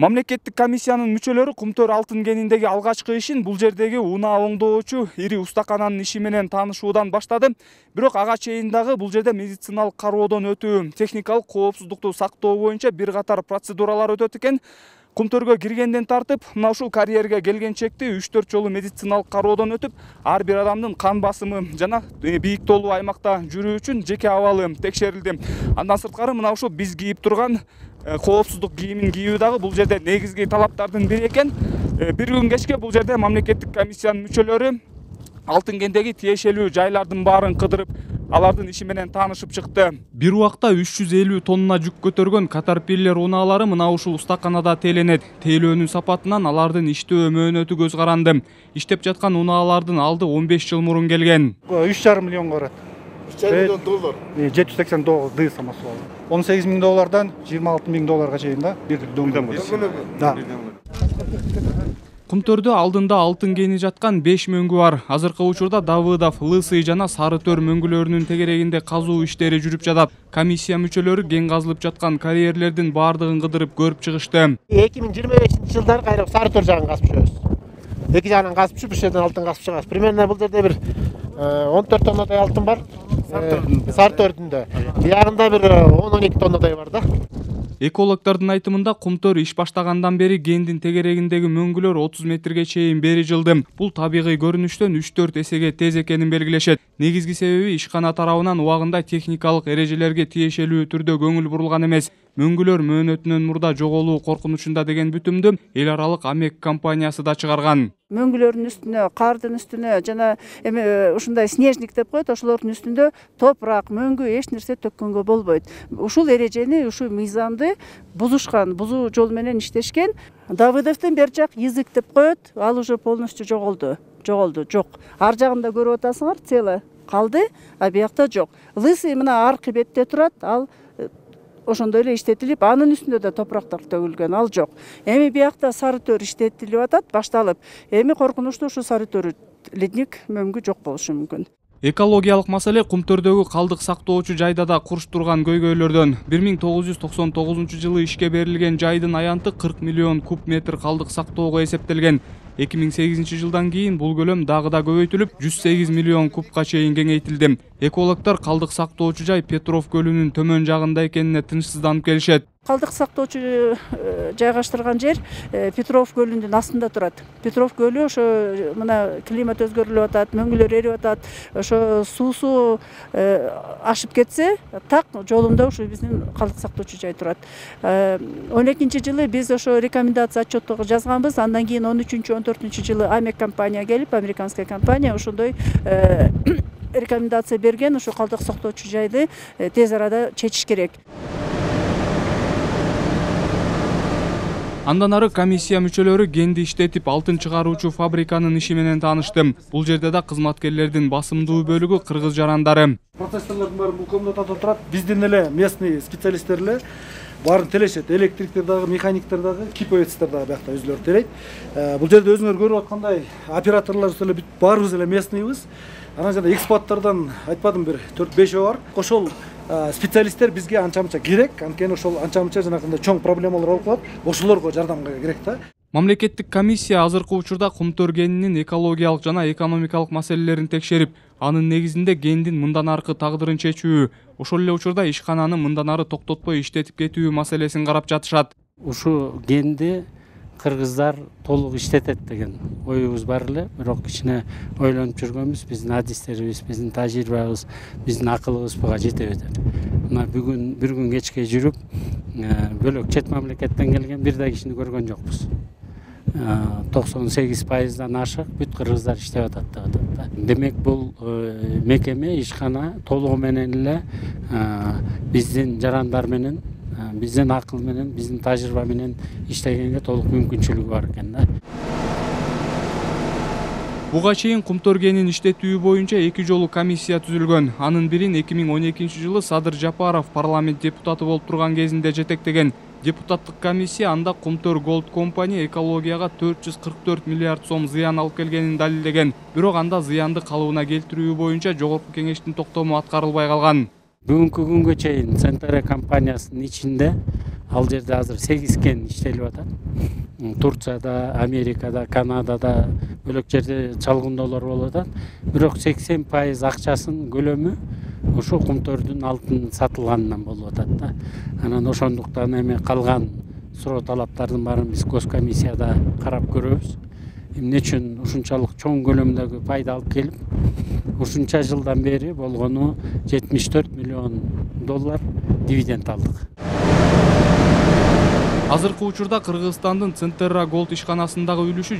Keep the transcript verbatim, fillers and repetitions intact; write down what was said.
Мамлекеттик комиссиянын мүчөлөрү Кумтөр алтын кениндеги алгачкы ишин бул жердеги унаа оңдоочу ири устакананын иши менен таанышуудан баштады. Бирок ага чейин дагы бул жерде медициналык кароодон өтүү, техникалык коопсуздукту сактоо боюнча бир катар процедуралар өтөт экен. Кумтөргө киргенден тартып, мына ушул карьерге келгенчекти үч төрт жолу медициналык кароодон өтүп, ар бир адамдын кан басымы жана бийик тоолуу аймакта жүрүү үчүн жеке абалы текшерилди. Андан сырткары мына ушул биз кийип турган коопсуздук кийимин кийүү дагы бул жерде негизги талаптардын бири экен. Бир күн кечке бул жерде мамлекеттик комиссиянын мүчөлөрү алтын кендеги тиешелүү жайлардын баарын кыдырып, алардын иши менен таанышып чыкты. Бир убакта үч жүз элүү тонна жүк көтөргөн Caterpillar унаалары мына ушул устаканада теленет. Тейлөөнүн сапатынан алардын иштөө мөөнөтү көз каранды. Иштеп жаткан унаалардын алды он беш жыл мурун келген. үч жарым миллионго барат. үч жарым миллион доллар. жети жүз сексен тогуз ды самосвал. он сегиз миң доллардан жыйырма алты миң долларга чейин да бир дөңгөлөк. Да. Кумтөрдө алдында алтын кени жаткан беш мөңгү бар. Азыркы учурда Давыдов, Лысый жана Сары Төр мөңгүлөрүнүн тегерегинде казуу иштери жүрүп жатат. Комиссия мүчөлөрү кен казылып жаткан карьерлердин баардыгын кыдырып көрүп чыгышты. эки миң жыйырма бешинчи жылдары кайра Сары Төр жагын казып жүрөбүз. Эки жагынан казып жүрүп, бир жерден алтын казып чыгабыз. Примерно бул жерде бир он төрт тоннадай алтын бар. Сары Төрдүндө. Биягында бир он он эки тоннадай бар да. Экологдордун айтымында Кумтөр иш баштагандан бери кендин тегерегиндеги мөңгүлөр отуз метрге чейин бери жылды. Бул табигый көрүнүштөн үч төрт эсеге тез экенин белгилешет. Негизги себеби ишкана тарабынан убагында техникалык эрежелерге тиешелүү түрдө көңүл бурулган эмес. Мөңгүлөр мөөнөтүнөн мурда жоголуу коркунучунда деген бүтүмдү эл аралык Амек компаниясы да чыгарган. Мөңгүлөрдүн үстүнө, кардын үстүнө жана эме ушундай снежник деп коет, ошолордун үстүндө топурак, мөңгү эч нерсе төккөнгө болбойт. Ушул эрежени, ушул мыйзамды бузушкан, бузуу жол менен иштешкен. Давыдовдун бер жак язык деп коет, ал уже полностью жоголду. Жоголду, жок. Ар жагында көрүп атасыңар, цело калды, а биякта жок. Лысый мына аркы бетте турат, ал ошондой эле иштетилип, анын үстүндө да топурактар төгүлгөн, ал жок. Эми биякта Сары Төр иштетилип атат, башталып. Эми коркунучтуу ушу Сары Төр ледник мөңгү жок болушу мүмкүн. Экологиялык маселе Кумтөрдөгү калдык сактоочу жайда да курчтурган көйгөйлөрдөн. бир миң тогуз жүз токсон тогузунчу жылы ишке берилген жайдын аянты кырк миллион куб метр калдык сактоого эсептелген. эки миң сегизинчи жылдан кийин бул көлөм дагы да көбөйтүлүп, жүз сегиз миллион кубка чейин кеңейтилди. Экологдор калдык сактоочу жай Петров көлүнүн төмөн жагында экенине тынчсызданып келишет. Калдык сактоочу жайгаштырган жер Петров көлүнүн астында турат. Петров көлү ошо мына климат өзгөрүлүп атат, мөңгүлөр эрип атат. Ошо суусу ашып кетсе, так жолунда ушу биздин калдык сактоочу жай турат. он экинчи жылы биз ошо рекомендация отчетту жазганбыз. Андан кийин он үчүнчү он төртүнчү жылы Амек компания келип, американская компания ошондой рекомендация берген, ошо калдык сактоочу жайды тез арада чечиш керек. Андан ары комиссия мүчөлөрү кенди иштетип алтын чыгаруучу фабриканын иши менен таанышты. Бул жерде да кызматкерлердин басымдуу бөлүгү кыргыз жарандары. Процессорлордун баары бул комнатада турат. Биздин эле местный специалисттер эле баарын телешет. Электриктер дагы, механиктер дагы, киповецтер дагы биякта өзүлөрү телейт. Бул жерде өзүңөр көрүп аткандай операторлор эле баарыбыз эле местныйбыз. Анан жана экспаттардан айтпадым бир төрт бешөө бар. Ошол специалисттер бизге анча-мынча керек, анткени ошол анча-мынча жанагындай чоң проблемалар болуп калат. Ошолорго жардамга керек да. Мамлекеттик комиссия азыркы учурда Кумтөр кенинин экологиялык жана экономикалык маселелерин текшерип, анын негизинде кендин мындан аркы тагдырын чечүү, ошол эле учурда ишкананы мындан ары токтотпой иштетип кетүү маселесин карап жатышат. Ушу кенди кыргыздар толук иштетет деген оюбуз бар эле, бирок кичине ойлонуп жүргөнбүз, биздин адистерибиз, биздин тажрыйбабыз, биздин акылыбыз буга жетеби деп. Мына бүгүн бир күн кечке жүрүп, бөлөк чет мамлекеттен келген бир да кишини көргөн жокпуз. токсон сегиз пайыздан ашык бүт кыргыздар иштеп атат деп атат. Демек бул мекеме, ишкана толугу менен эле биздин жарандар менен, биздин акыл менен, биздин тажрыйба менен иштегенге толук мүмкүнчүлүгү бар экен да. Буга чейин Кумтөр кенин иштетүү боюнча эки жолу комиссия түзүлгөн. Анын бирин эки миң он экинчи жылы Садыр Жапаров парламент депутаты болуп турган кезинде жетектеген. Депутаттык комиссия анда Кумтөр Gold Company экологияга төрт жүз кырк төрт миллиард сом зыян алып келгенин далилдеген. Бирок анда зыянды калыбына келтирүү боюнча жогорку кеңештин токтому аткарылбай калган. Бүгүнкү күнгө чейин Центре компаниясынын ичинде Ал жерде азыр сегиз кен иштелип атат. Турцияда, Америкада, Канадада, бөлөк жерде чалгындоолор болуп атат. Бирок сексен пайыз акчасын көлөмү ошо кумтөрдүн алтын сатылганынан болуп атат да. Анан ошондуктан эми калган суроо талаптардын баарын биз госкомиссияда карап көрөбүз. Эмне үчүн ушунчалык чоң көлөмдөгү пайда алып келип, ушунча жылдан бери болгону жетимиш төрт миллион доллар дивиденд алдык. Азыркы учурда Кыргызстандын Центерра Голд ишканасындагы үлүшү